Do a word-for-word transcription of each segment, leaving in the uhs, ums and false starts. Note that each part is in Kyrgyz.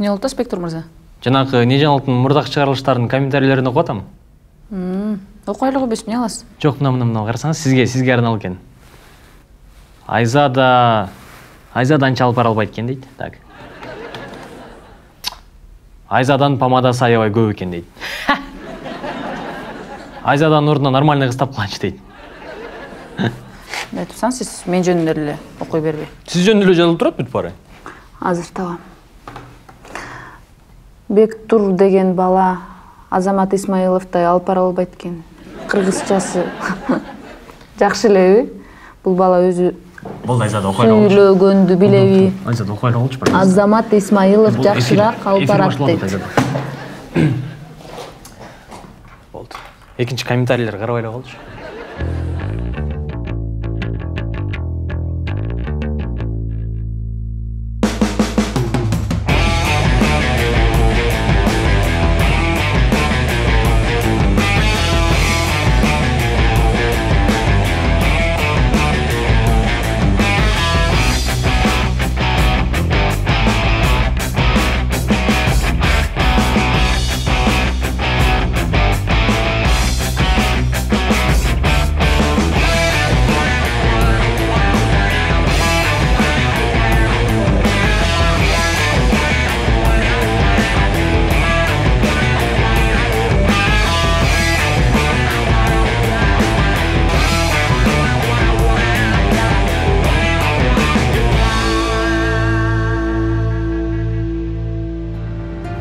Эмне болду, Спектр мырза? Жанагы не жаңылыктын мурдак чыгарылыштардын комментарийлерин окуп атам. Окуйлугу бес эмне аласыз? Жок, мына мына мына карасаңыз, сизге сизге арналып экен. Айзада Айзада анча алып бара албайт экен дейт. Так. Айзадан помадасы аябай көп экен дейт. Айзаданын ордуна нормальный кыз тапканчы дейт. Айтып атсаңыз, сиз мен жөнүндө эле окуй бербей. Сиз жөнүндө эле жазылып турат бүт баары. Азыр табам. Бектур деген бала Азамат Исмаиловтой алып бара албайт экен. Кыргызчасы жакшы элеби? Бул бала өзү Бул Айзада окуй алчу. Сүйлөгөндү билеби? Айзада окуй алчу бар. Азамат Исмаилов жакшыраак алып барат дейт. Болду. Экинчи комментарийлер карабай эле калчу.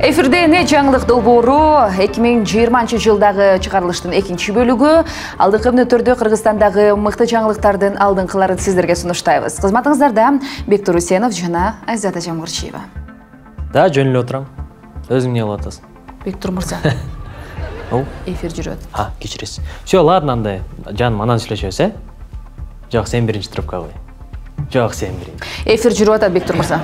Эфирде «Не жаңылык» долбоору эки миң жыйырманчы жылдагы чыгарылыштын экинчи бөлүгү. Алдыңкы мүнөттөрдө Кыргызстандагы мыкты жаңылыктардын алдыңкыларын сиздерге сунуштайбыз. Кызматыңыздарда Бектур Усенов жана Айзада Жамгырчиева. Да, жөн эле отурам. Өзүң эмне кылып атасың? Бектур мырза. О, эфир жүрөт. А, кечиресиз. Всё, ладно, андай. Жаным, анан сүйлөшөбүз, э? Жок, сен биринчи трубка кой. Жок, сен биринчи. Эфир жүрүп атат, Бектур мырза.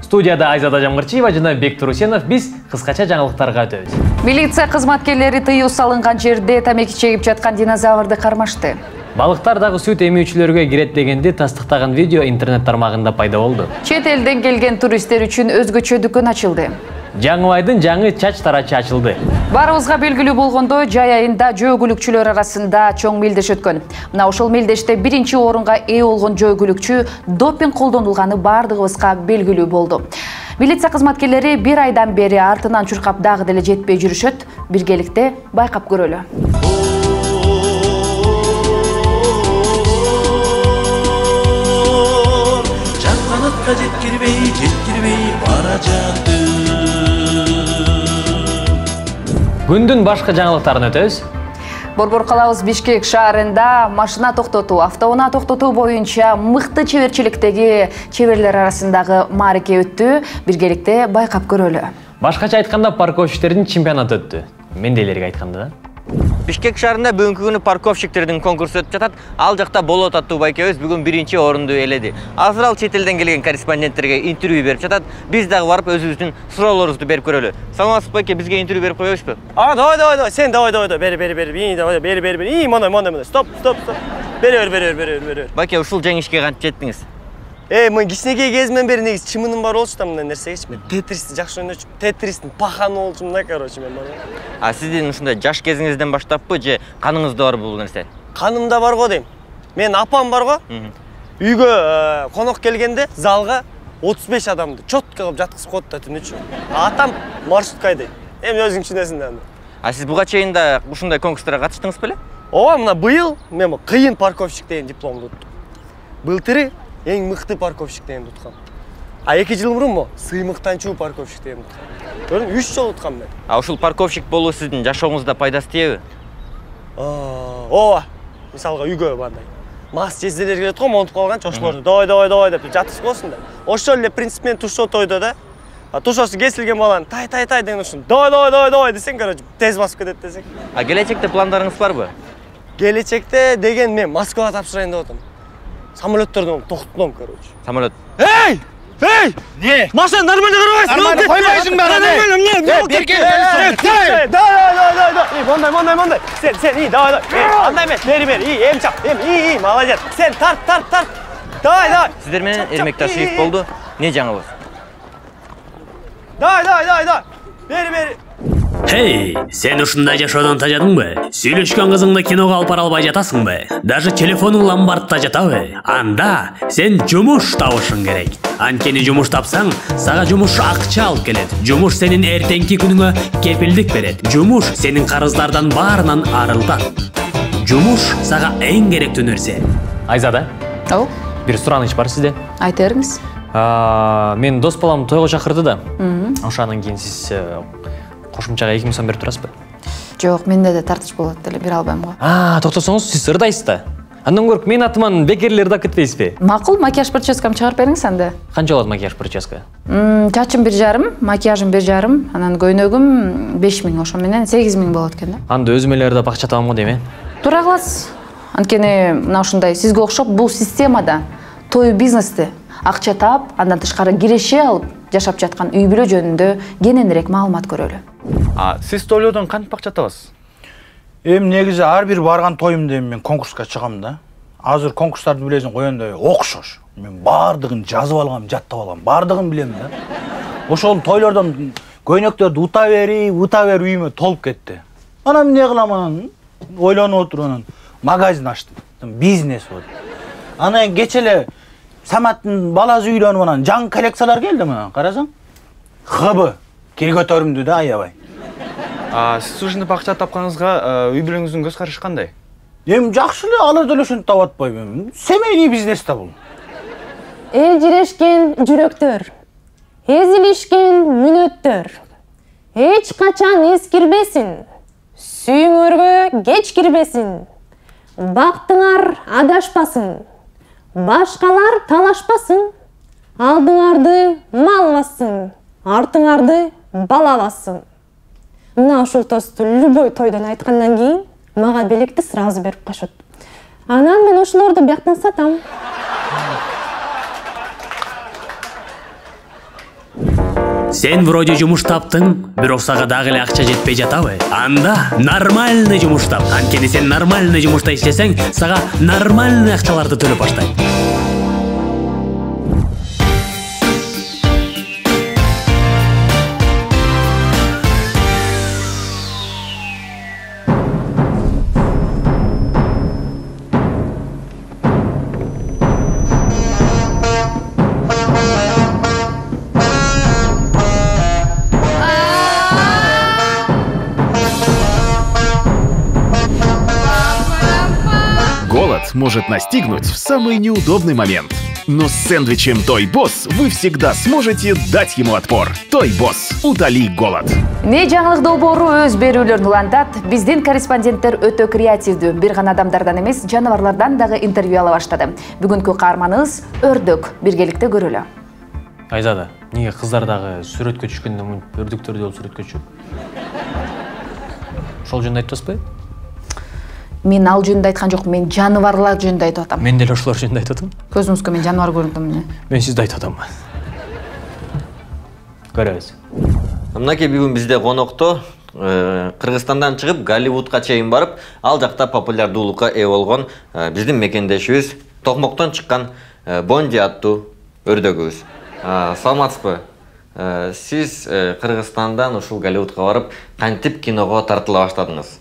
Студияда Айзада Жамгырчиева жана Бектур Усенов, биз кыскача жаңылыктарга өтөбүз. Милиция кызматкерлери тыюу салынган жерде тамеки чегип жаткан динозаврды кармашты. Балыктар дагы сүт эмүүчүлөргө кирет дегенди тастыктаган видео интернет тармагында пайда болду. Чет элден келген туристтер үчүн өзгөчө дүкөн ачылды. Жаңыбайдын жаңы чач тарачы ачылды. Барыбызга белгилүү болгондой, жай айында жөө-күлүкчүлөр арасында чоң мелдеш өткөн. Мына ошол мелдеште биринчи орунга ээ болгон жөө-күлүкчү допинг колдонулганы бардыгыбызга белгилүү болду. Милиция кызматкерлери бир айдан бери артынан чуркап дагы деле жетпей жүрүшөт. Биргеликте байкап көрөлү. Жаңганатка жеткирбей, жеткирбей бара жатты. Күндүн башка жаңылыктарын өтөбүз. Борбор калабыз Бишкек шаарында машина токтотуу, автоунаа токтотуу боюнча мыкты чеберчиликтеги чеберлер арасындагы маареке өттү. Биргеликте байкап көрөлү. Башкача айтканда парковщиктердин чемпионаты өттү. Мендейлерге айтканда да. Бишкек шаарында бүгүнкү күнү парковщиктердин конкурсу өтүп жатат. Ал жакта Болот аттуу байкебиз бүгүн биринчи орунду ээледи. Азыр ал чет элден келген корреспонденттерге интервью берип жатат. Биз дагы барып өзүбүздүн суроолорубузду берип көрөлү. Саламатсызбы байке, бизге интервью берип коебузбу? А, давай, давай, давай. Сен давай, давай, давай. Бери, бери, бери. Давай, бери, бери, бери. И, мондай, мондай, мондай. Стоп, стоп, стоп. Бери, бери, бери, бери, бери. Байке, ушул жеңишке кантип жеттиңиз? Эй, мен кичинекей кезимден бери негизи чымыным бар болчу да мындай нерсегечи. Мен Тетристи жакшы ойночумун. Тетристин паханы болчумун да, короче, мен бар. А сиздин ушундай жаш кезиңизден баштаппы же каныңызда бар бул нерсе? Канымда бар го дейм. Мен апам бар го. Үйгө конок келгенде залга отуз беш адамды чотко кылып жаткызып коет да түнүчү. Атам маршрутка айдайт. Эми өзүң түшүнөсүң да. А сиз буга чейин да ушундай конкурстарга катыштыңыз беле? Ооба, мына быйыл мен кыйын парковщик деген дипломду уттум. Былтыры эң мыкты парковщик деген уткам. А эки жыл мурун сыймыктанчуу парковщик деген уткам. Көрдүң, үч жолу уткам мен. А ушул парковщик болуу сиздин жашооңузда пайдасы тийеби? Ооба. Мисалга үйгө бандай мас жезделер келет го, монтуп калган чошморду. Давай, давай, давай деп жаткызып коесуң да. Ошол эле принцип менен тушо тойдо да. А тушосу кесилген баланы тай тай тай деген ушун давай, давай, давай, давай десең, короче, тез басып кетет десең. А келечекте пландарыңыз барбы? Келечекте деген мен Москвага тапшырайын деп атам. Самолеттерден токтотом, короче. Самолет. Эй! Эй! Не? Машина нормально карабайсың. Нормально койбойсуң бара. Нормально, берке. Да, да, да, да. И мондай, мондай, мондай. Сен, сен, и давай, давай. Андай эмес, бери, бери. И, эм чап, эм, и, и, молодец. Сен тарт, тарт, тарт. Давай, давай. Сиздер менен Эрмек Ташиев болду. Не жаңыбыз? Давай, давай, давай, давай. Бери, бери. Hey, sen ушундай жашоодон тажадыңбы? Сүйлөшкөн кызыңды киного алып бара албай жатасыңбы? Даже телефонуң ламбардта жатабы? Анда сен жумуш табышың керек. Анткени жумуш тапсаң, сага жумуш акча алып келет. Жумуш сенин эртеңки күнүңө кепилдик берет. Жумуш сенин карыздардан баарынан арылтат. Жумуш сага эң керектүү нерсе. Айзада, Ау, бир сураныч бар сизде. айта бериңиз. Мен дос балам тойго чакырды да. Ошондан кийин сиз кошумчага эки миң сом берип турасызбы? Жок, менде де тартыш болот деле, бере албайм го. А, токтосоңуз, сиз ырдайсыз да. Андан көрүп мен атыман бекерлер ырдап кетпейсизби? Макул, макияж прическам чыгарып бериңиз анда. Канча болот макияж прическа? Чачым бир жарым, макияжым бир жарым, анан көйнөгүм беш миң, ошо менен сегиз миң болот экен да. Анда өзүм эле ырдап акча табам го дейм, э? Тура каласыз. Анткени мына ушундай сизге окшоп бул системада той бизнести акча таап, андан тышкары киреше алып жашап жаткан үй бүлө жөнүндө кененирээк маалымат көрөлү. А сиз тойлоодон кантип акча табасыз? Эми негизи ар бир барган тоюмда эми мен конкурска чыгам да. Азыр конкурстарды билесиң коёндай окшош. Мен баардыгын жазып алгам, жаттап алгам, баардыгын билем да. Ошол тойлордон көйнөктөрдү ута бери, ута бери үйүмө толуп кетти. Анан эмне кылам анан? Ойлонуп отуруп анан магазин ачтым. Бизнес болду. Анан кече эле Саматтын баласы үйлөнүп анан жаңы коллекциялар келди мына, карасаң. Хыбы кир көтөрүмдү да аябай. А сиз ушинтип акча тапканыңызга үй бүлөңүздүн көз карашы кандай? Эми жакшы эле, алар деле ошентип таап атпайбы. Семейный бизнес да бул. Элжирешкен жүрөктөр, эзилишкен мүнөттөр эч качан эскирбесин, сүйүңөргө кеч кирбесин, бактыңар адашпасын, башкалар талашпасын, алдыңарды мал бассын, артыңарды бала бассын. Мына ушул тосту любой тойдон айткандан кийин мага белекти сразу берип коёшот. Анан мен ошолорду бияктан сатам. Сен вроде жумуш таптың, бирок сага дагы эле акча жетпей жатабы? Анда нормальный жумуш тап. Анткени сен нормальный жумушта иштесең, сага нормальный акчаларды төлөп баштайт. Может настигнуть в самый неудобный момент. Но с сэндвичем Toy Boss вы всегда сможете дать ему отпор. Toy Boss. Утоли голод. Не жаңылык долбоору өз берүүлөрүн улантат. Биздин корреспонденттер өтө креативдүү. Бир гана адамдардан эмес, жаныбарлардан дагы интервью ала баштады. Бүгүнкү каарманыбыз Өрдөк. Биргеликте көрөлү. Айзада, неге кыздар дагы сүрөткө түшкөндө мынтип өрдөктөрдү алып сүрөткө түшөт? Ошол жөнүндө айтпайсызбы? Мен ал жөнүндө айткан жокмун, мен жаныбарлар жөнүндө айтып атам. Мен деле ошолор жөнүндө айтып атам. Көзүңүзгө мен жаныбар көрүнүп атам. Мен сизди айтып атам. Көрөбүз. Мынакей бүгүн бизде конокто Кыргызстандан чыгып Голливудка чейин барып, ал жакта популярдуулукка ээ болгон биздин мекендешибиз Токмоктон чыккан Бонди аттуу өрдөгүбүз. Саламатсызбы? Сиз Кыргызстандан ушул Голливудка барып, кантип киного тартыла баштадыңыз?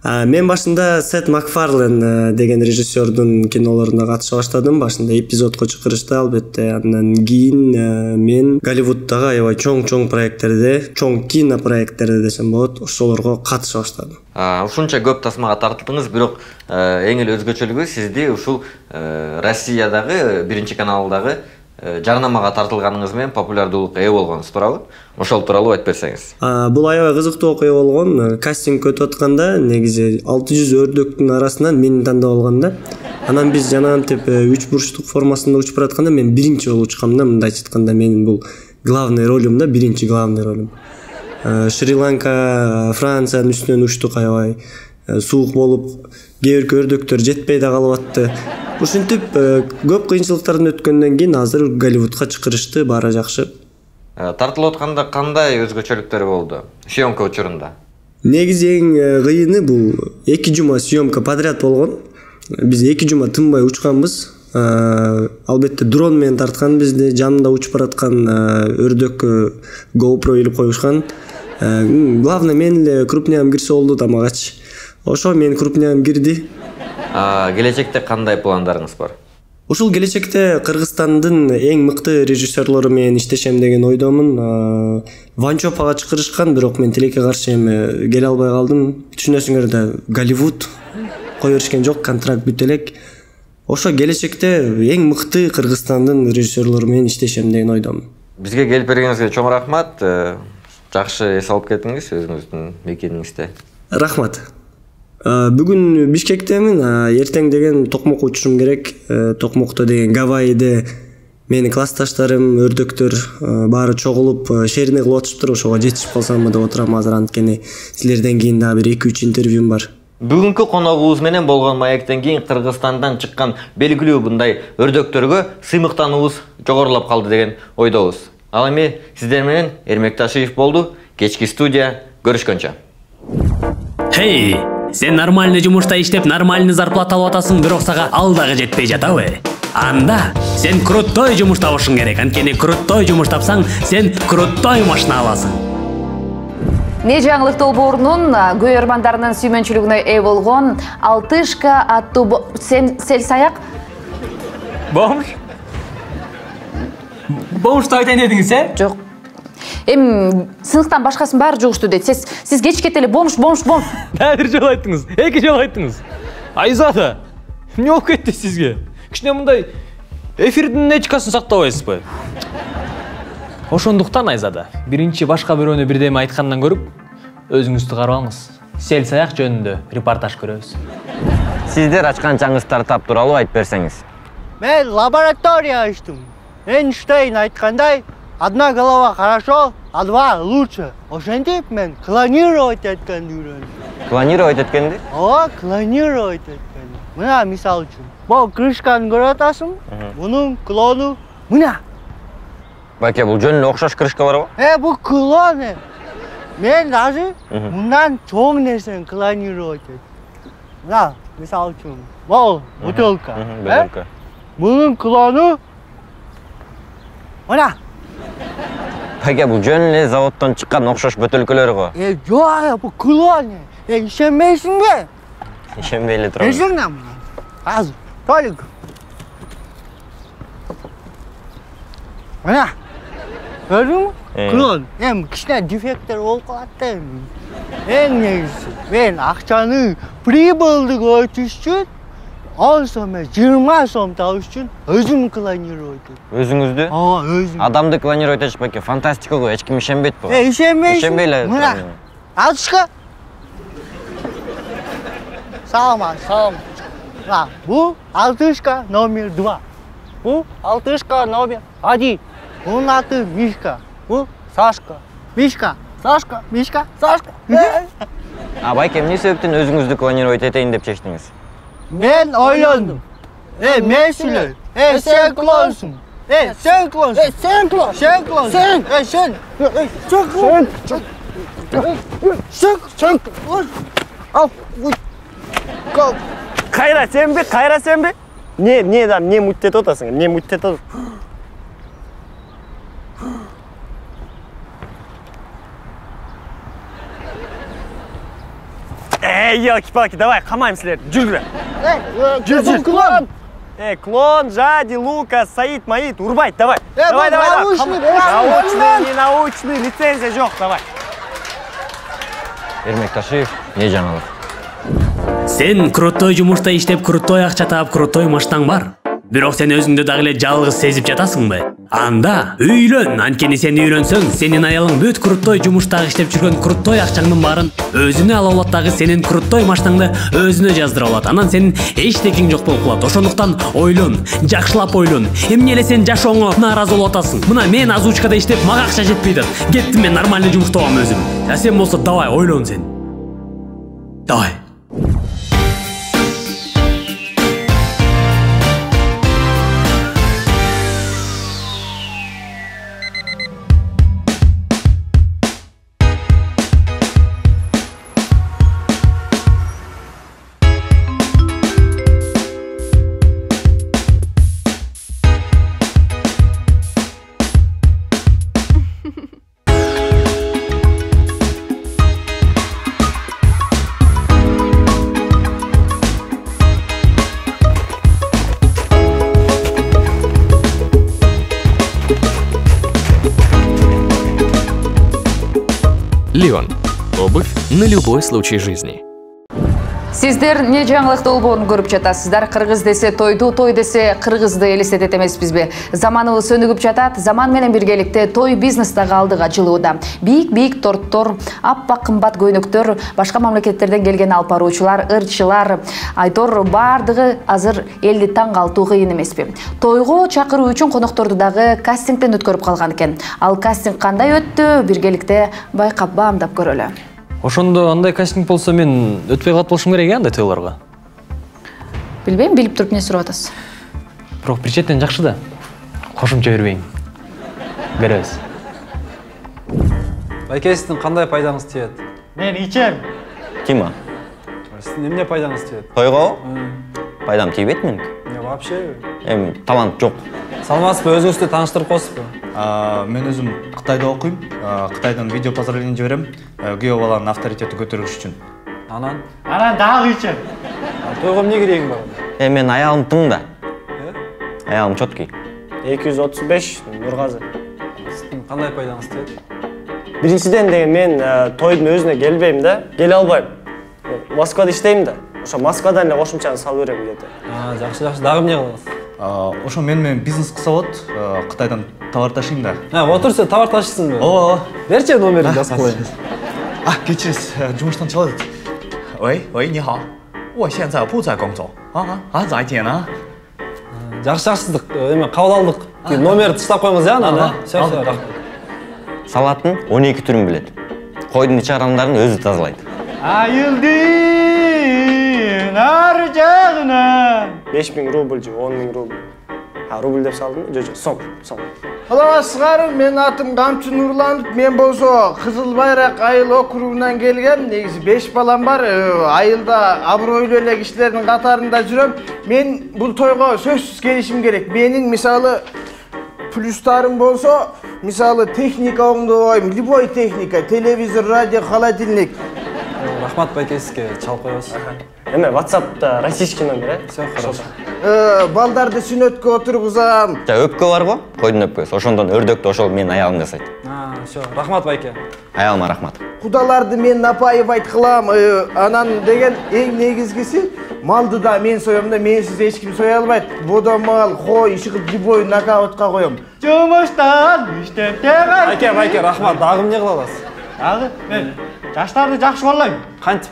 Мен башында Сет Макфарлен деген режиссердун кинолоруна катыша баштадым. Башында эпизодко чакырышты албетте. Андан кийин мен Голливудтагы аябай чоң-чоң проекттерде, чоң кино проекттерде десем болот, ошолорго катыша баштадым. Ушунча көп тасмага тартылдыңыз, бирок эң эле өзгөчөлүгү сизди ушул Россиядагы биринчи каналдагы жарнамага тартылганыңыз менен популярдуулукка ээ болгонуңуз туурабы? Ошол тууралуу айтып берсеңиз. Бул аябай кызыктуу окуя болгон. Кастинг өтүп атканда негизи алты жүз өрдөктүн арасынан мени тандап алган да. Анан биз жанагынтип үч бурчтук формасында учуп баратканда мен биринчи болуп учкам да. Мындайча айтканда менин бул главный ролюм да, биринчи главный ролюм. Шри-Ланка, Франциянын үстүнөн учтук, аябай суук болуп, кээ бир өрдөктөр жетпей да калып атты. Ушинтип көп кыйынчылыктардан өткөндөн кийин азыр Голливудка чакырышты, баары жакшы. Тартылып атканда кандай өзгөчөлүктөр болду съемка учурунда? Негизи эң кыйыны бул эки жума съемка подряд болгон. Биз эки жума тынбай учканбыз. Албетте дрон менен тарткан бизди, жанында учуп бараткан өрдөккө GoPro илип коюшкан. Главное мен эле крупням кирсе болду тамагачы. Ошо мен крупням кирди. Келечекте кандай пландарыңыз бар? Ушул келечекте Кыргызстандын эң мыкты режиссерлору менен иштешем деген ойдомун. Ванчопага чакырышкан, бирок мен тилекке каршы эми келе албай калдым. Түшүнөсүңөр да, Голливуд кое беришкен жок, контракт бүт элек. Ошо келечекте эң мыкты Кыргызстандын режиссерлору менен иштешем деген ойдомун. Бизге келип бергениңизге чоң рахмат. Жакшы эс алып кеттиңиз өзүңүздүн мекениңизде. Рахмат. Бүгүн Бишкектемин, эртең деген Токмокко учушум керек. Токмокто деген Гавайиде менин классташтарым, өрдөктөр баары чогулуп шерине кылып атышыптыр. Ошого жетишип калсамбы деп отурам. Азыр анткени силерден кийин дагы бир эки үч интервьюм бар. Бүгүнкү коногубуз менен болгон маектен кийин Кыргызстандан чыккан белгилүү мындай өрдөктөргө сыймыктануубуз жогорулап калды деген ойдобуз. Ал эми сиздер менен Эрмек Ташиев болду. Кечки студия, көрүшкөнчө. Хей, сен нормальный жумушта иштеп нормальный зарплата алып атасың, бирок сага ал дагы жетпей жатабы? Анда сен крутой жумуш табышың керек. Анткени крутой жумуш тапсаң, сен крутой машина аласың. Не жаңылык долбоорунун көрөрмандарынын сүймөнчүлүгүнө ээ болгон Алтышка аттуу сел саяк Бомж? Бомжду айтайын дедиңиз, э? Жок. Эми сыныктан башкасын баары жугушту дейт. Сиз сиз кечке эле бомж, бомж, бомж. Бир жолу айттыңыз, эки жолу айттыңыз. Айзада, эмне болуп кетти сизге? Кичине мындай эфирдин этикасын сактабайсызбы? Ошондуктан Айзада, биринчи башка бирөөнү бирдеме айткандан көрүп, өзүңүздү карап алыңыз. Сел саяк жөнүндө репортаж көрөбүз. Сиздер ачкан чаңгыздар тап тууралуу айтып берсеңиз. Мен лаборатория ачтым. Эйнштейн айткандай, одна голова хорошо, а два лучше. Ошентип мен клонировать эткенди үйрөндүм. Клонировать эткенди? Ооба, клонировать эткенди. Мына мисал үчүн, бул крышканы көрүп атасың, мунун клону мына. Байке, бул жөн эле окшош крышка барбы? Э, бул клон. Мен даже мындан чоң нерсени клонировать эттим. Мына, мисал үчүн, бул бутылка. Бутылка. Мунун клону мына. Байке, бул жөн эле заводдон чыккан окшош бөтөлкөлөр го. Э, жок, бул клон. Э, ишенбейсиңби? Ишенбей эле турам. Эжиңнам. Азыр, толик. Мына. Көрдүңбү? Клон. Эми кичине дефекттер болуп калат да эми. Эң негизи, мен акчаны прибылдык өтүш үчүн он сом, жыйырма сом табыш үчүн өзүм клонировать эттим. Өзүңүздү? Ооба, өзүм. Адамды клонировать этиш байке, фантастика го, эч ким ишенбейт буга. Э, ишенбейсиң? Ишенбей эле турам. Алтышка. Салам, салам. Мына, бул Алтышка номер два. Бул Алтышка номер один. Бунун аты Мишка. Бул Сашка. Мишка, Сашка, Мишка, Сашка. А байке, эмне себептен өзүңүздү клонировать этейин деп чечтиңиз? Мен ойлондум. Э, мен сүйлөйм. Э, сен клонсуң. Э, сен клонсуң. Э, сен клон. Сен клон. Сен. Э, сен. Э, сен клон. Сен. Сен. Ал. Кал. Кайра сенби? Кайра сенби? Не, не да, не муттетип атасың? Не муттетип атасың? Эй, елки-палки, давай, камайм силерди. Жүргүлө. Жүр, жүр. Клон. Э, клон, Жади, Лука, Саид, Маид, урбайт, давай. Э, давай, давай, научный, научный, не научный, лицензия жок, давай. Эрмек Ташиев, не жаңылык? Сен крутой жумушта иштеп, крутой акча таап, крутой машинаң бар. Бирок сен өзүңдү дагы эле жалгыз сезип жатасыңбы? Анда үйлөн, анткени сен үйлөнсөң, сенин аялың бүт крутой жумуштагы иштеп жүргөн крутой акчаңдын баарын өзүнө ала алат, дагы сенин крутой машинаңды өзүнө жаздыра алат. Анан сенин эчтекең жок болуп калат. Ошондуктан ойлон, жакшылап ойлон. Эмне эле сен жашооңо нааразы болуп атасың? Мына мен озвучкада иштеп, мага акча жетпей атат. Кеттим мен нормальный жумуш табам өзүм. А сен болсо давай ойлон сен. Давай. Лион. Обувь на любой случай жизни. Сиздер не жаңылык долбоорун көрүп жатасыздар. Кыргыз десе тойду, той десе кыргызды элестетет эмеспизби? Заманыбыз өнүгүп жатат. Заман менен биргеликте той бизнес дагы алдыга жылууда. Бийик-бийик торттор, аппак кымбат көйнөктөр, башка мамлекеттерден келген алып баруучулар, ырчылар, айтор бардыгы азыр элди таң калтуу кыйын эмеспи? Тойго чакыруу үчүн конокторду дагы кастингден өткөрүп калган экен. Ал кастинг кандай өттү? Биргеликте байкап баамдап көрөлү. Ошондо андай кастинг болсо мен өтпөй калып болушум керек э андай тойлорго. Билбейм, билип туруп эмне сурап атасыз? Бирок бир четен жакшы да. Кошумча бербейин. Көрөбүз. Байке, сиздин кандай пайдаңыз тиет? Мен ичем. Ким а? Сиздин эмне пайдаңыз тиет? Тойго? Пайдам тийбейт меники. Не, вообще? Эми талант жок. Саламатсызбы, өзүңүздү тааныштырып коесузбу? Мен өзүм Кытайда окуйм. Кытайдан видео поздравление жиберем. Күйөө баланын авторитети көтөрүш үчүн. Анан? Анан дагы ичем. Тойго эмне керегиң бар? Э, мен аялым тың да. Аялым чоткий. эки жүз отуз беш Нургазы. Сиздин кандай пайдаңыз тиет? Биринчиден деген мен тойдун өзүнө келбейм да, келе албайм. Москвада иштейм да. Ошо Москвадан эле кошумчаны салып берем где-то. А, жакшы, жакшы. Дагы эмне кыласыз? Ошо мен менен бизнес кылса болот. Кытайдан товар ташыйм да. А, отур, сен товар ташыйсыңбы? Ооба. Берчи номерин жазып коеюн. А, кечиресиз, жумуштан чыгып атат. Ой, ой, ни хао. 我现在不在工作。啊啊，再见啊。 Жакшы, жакшы. Эме кабыл алдык. Номерди тыштап коюңуз я, анан. Все, все, рахмат. Салаттын он эки түрүн билет. Койдун ич арамдарын өзү тазалайт. Айылдын ар жагынан беш миң рубль же он миң рубль. А, рубль деп салдым? Жо, жо, сом, сом. Саламатсыздар, мен атым Камчы Нурланов. Мен болсо Кызыл Байрак айыл округунан келгем. Негизи беш балам бар. Айылда абройлуу эле кишилердин катарында жүрөм. Мен бул тойго сөзсүз келишим керек. Менин мисалы плюстарым болсо, мисалы техника оңдобойм, любой техника, телевизор, радио, холодильник. Рахмат байке, сизге чалып коебуз. Эме, WhatsApp'та российский номер, э? Все, хорошо. Балдарды сүнөткө отургузам. Жа өпкө барбы? Койдун өпкөсү. Ошондон өрдөктү ошол менин аялым жасайт. А, все, рахмат байке. Аялыма рахмат. Кудаларды мен напаевать кылам. Анан деген эң негизгиси малды да мен соем да, менсиз эч ким соя албайт. Бодомал, кой, ишигип любой нокаутка коем. Жумуштан иштеп келген. Байке, байке, рахмат. Дагы эмне кыла аласыз? Дагы мен жаштарды жакшы коллойм. Кантип?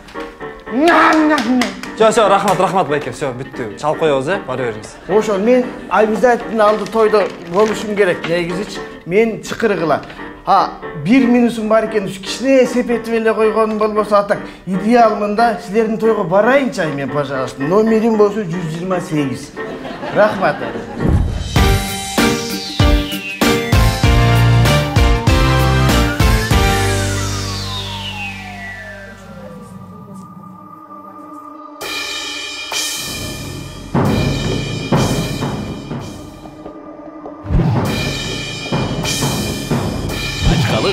Все, все, рахмат, рахмат байке. Все, бүттү. Чалып коебуз, э? Бара бериңиз. Ошо мен обязательно алды тойдо болушум керек. Негизичи мен чыкыргыла. А, бир минусум бар экен, кичине сепетип эле койгонум болбосо атак. Идеалмында силердин тойго барайынчы мен, пожалуйста. Номерим болсо жүз жыйырма сегиз. Рахмат.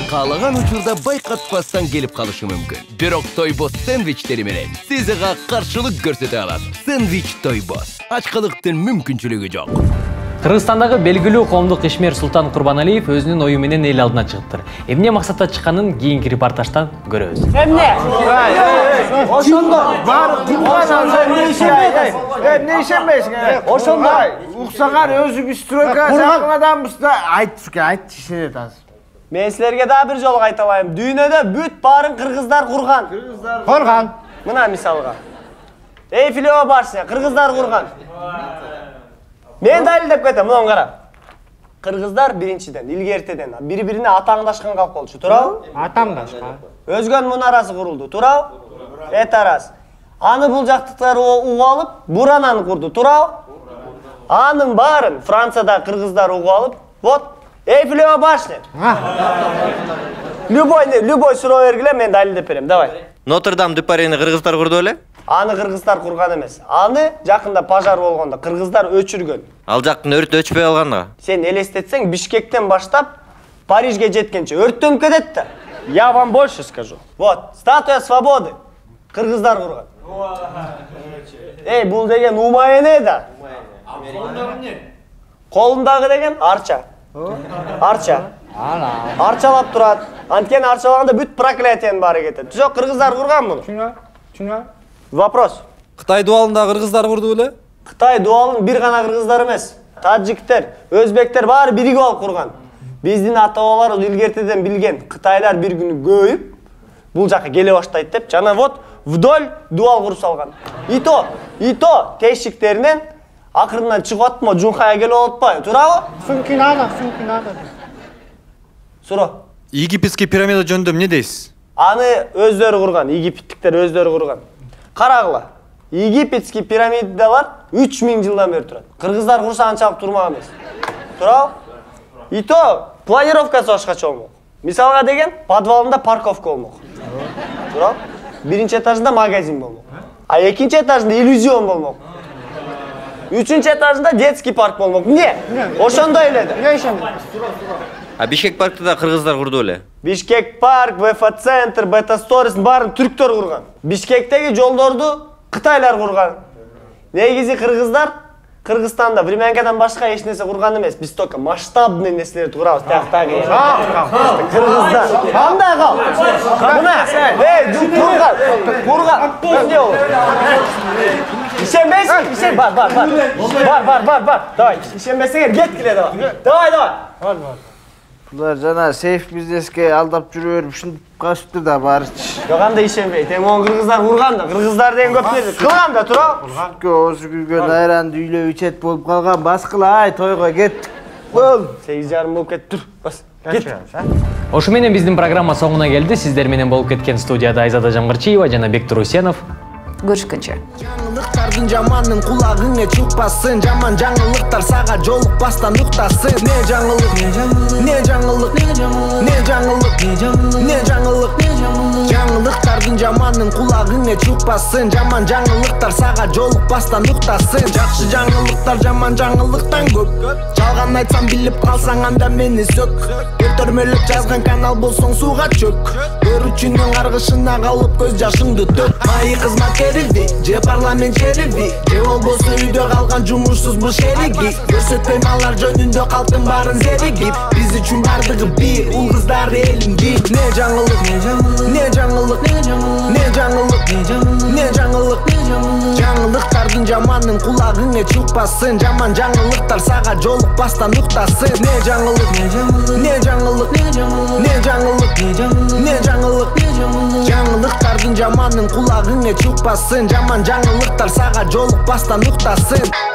Каалаган учурда байкатпастан келип калышы мүмкүн. Бирок Тойбос сэндвичтери менен сиз ага каршылык көрсөтө аласыз. Сэндвич Тойбос. Ачкылыктын мүмкүнчүлүгү жок. Кыргызстандагы белгилүү коомдук ишмер Султан Курбаналиев өзүнүн ою менен эл алдына чыгыптыр. Эмне максатта чыкканын кийинки репортаждан көрөбүз. Эмне? Ошондо бар курбан алса эмне ишенбейт? Эмне ишенбейсиң? Ошондо уксагар өзү стройка жакын адамбыз да. Айтчы, айтчы ишенет азыр. Мен силерге да бир жолу айта алайын. Дүйнөдө бүт баарын кыргыздар курган. Кыргыздар курган. Мына мисалга. Эйфелева башня кыргыздар курган. Мен далилдеп кетем, мына кара. Кыргыздар биринчиден, илгертеден бири-бирине атаңдашкан калп болчу, туурабы? Атаңдашкан. Өзгөн мунарасы курулду, туурабы? Этарас. Аны бул жактыктар угуп алып, бурананы курду, туурабы? Анын баарын Францияда кыргыздар угуп алып, вот Эйфелева башня. Любой, любой суроо бергиле, мен далилдеп берем, давай. Нотр-Дам де Парини кыргыздар курду беле? Аны кыргыздар курган эмес. Аны жакында пожар болгондо кыргыздар өчүргөн. Ал жактын өрт өчпөй калганда. Сен элестетсең, Бишкектен баштап Парижге жеткенче өрттөнүп кетет да. Я вам больше скажу. Вот, статуя свободы. Кыргыздар курган. Эй, бул деген умайне да. Колундагы деген арча. Арча. Арчалап турат. Анткени арчалаганда бүт проклятиянын баары кетет. Жок, кыргыздар курган муну. Чуна, чуна. Вопрос. Кытай дуалын да кыргыздар курду беле? Кытай дуалын бир гана кыргыздар эмес. Таджиктер, өзбектер баары биригип алып курган. Биздин ата-бабаларыбыз илгертеден билген. Кытайлар бир күнү көйүп, бул жака келе баштайт деп, жана вот вдоль дуал куруп салган. И то, и то тешиктеринен акырынан чыгып атпы, Жунхайга келип атпайбы, туурабы? Сумки надо, сумки надо. Суро. Египетский пирамида жөнүндө эмне дейсиз? Аны өздөрү курган, египеттиктер өздөрү курган. Карагыла. Египетский пирамидалар үч миң жылдан бери турат. Кыргыздар курса анчалык турмак эмес. Туурабы? И то планировкасы башкача болмок. Мисалга деген, подвалында парковка болмок. Туурабы? Биринчи этажында магазин болмок. А экинчи этажында иллюзион болмок. Үчүнчү этажында детский парк болмок. Эмне? Ошондой эле да. Эмне ишенбейм? А Бишкек паркты да кыргыздар курду беле? Бишкек парк, ВФ-центр, Бета-Сторис баарын түрктөр курган. Бишкектеги жолдорду кытайлар курган. Негизи кыргыздар Кыргызстанда времянкадан башка эч нерсе курган эмес. Биз только масштабный нерселерди курабыз. Тияктагы. Кыргыздар. Кандай кал? Мына, эй, курган. Курган. Эмне болот? Ишенбейсиң? Ишен, бар, бар, бар. Бар, бар, бар, бар. Давай, ишенбесеңер кеткиле давай. Давай, давай. Бар, бар. Булар жана сейф бизнеске алдап жүрүп берип ушинтип калышыптыр да баарычы. Жок, андай ишенбейт. Эми он кыргыздар курган да, кыргыздар деген көп нерсе кылган да, туурабы? Өзү күргөн айранды үйлөп ичет болуп калган. Баскыла, ай, тойго кеттик. Бол. сегиз жарым болуп кетти. Тур, бас. Кет. Ошо менен биздин программа соңуна келди. Сиздер менен болуп кеткен студияда Айзада Жамгырчиева жана Бектур Усенов. Көрүшкөнчө. Жаңылыктардын жаманын кулагыңа чыкпасын, жаман жаңылыктар сага жолукпастан уктасын. Не жаңылык, не жаңылык, не жаңылык, не жаңылык, жаңылыктардын жаманын кулагыңа чыкпасын, жаман жаңылыктар сага жолукпастан уктасын. Жакшы жаңылыктар жаман жаңылыктан көп. Жалган айтсам билип калсаң анда мени сөк. Көтөрмөлөп жазган канал болсоң сууга чөк. Көрүүчүнүн каргышына калып көз жашыңды төк. Майы кызмат же парламент шериби, же болбосо үйдө калган жумушсуз бул шериги. Көрсөтпөйм алар жөнүндө калктын баарын зеригип. Биз үчүн бардыгы бир, ул кыздар элимди. Не жаңылык, не жаңылык, не жаңылык, не жаңылык, жаңылыктардын жаманын кулагыңа чыкпасын, жаман жаңылыктар сага жолукпастан уктасын. Не жаңылык, не жаңылык, не жаңылык, не жаңылык, жаңылыктардын жаманын кулагыңа чыкпасын, жаман жаңылыктар сага жолукпастан уктасын.